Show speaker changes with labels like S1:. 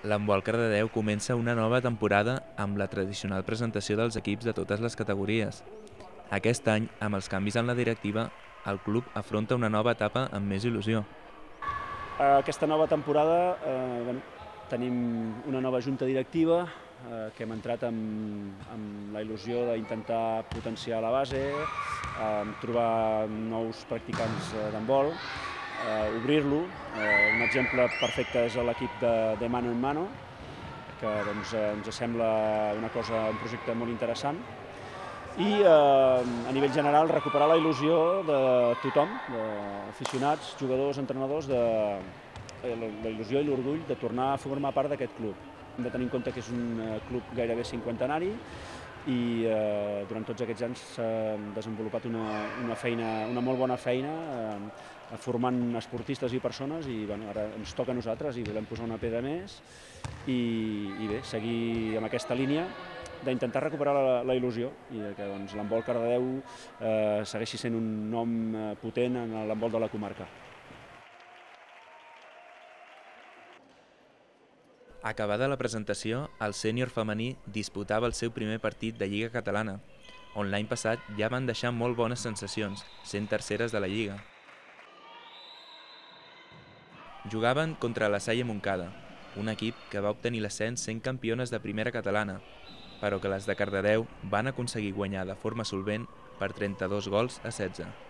S1: L'handbol Cardedeu comença una nova temporada amb la tradicional presentació dels equips de totes les categories. Aquest any, amb els canvis en la directiva, el club afronta una nova etapa amb més il·lusió.
S2: Aquesta nova temporada tenim una nova junta directiva que hem entrat amb la il·lusió d'intentar potenciar la base, trobar nous practicants d'handbol, obrir-lo. Un exemple perfecte és l'equip de Mano en Mano, que ens sembla un projecte molt interessant. I a nivell general recuperar la il·lusió de tothom, d'aficionats, jugadors, entrenadors, la il·lusió i l'orgull de tornar a formar part d'aquest club. Hem de tenir en compte que és un club gairebé cinquantenari i durant tots aquests anys s'ha desenvolupat una molt bona feina formant esportistes i persones i ara ens toca a nosaltres i volem posar una pedra més i bé, seguir amb aquesta línia d'intentar recuperar la il·lusió i que l'handbol Cardedeu segueixi sent un nom potent en l'handbol de la comarca.
S1: Acabada la presentació, el sènior femení disputava el seu primer partit de Lliga Catalana, on l'any passat ja van deixar molt bones sensacions, sent terceres de la Lliga. Jugaven contra la Salle Montcada, un equip que va obtenir l'ascens sent campiones de primera catalana, però que les de Cardedeu van aconseguir guanyar de forma solvent per 32 gols a 16.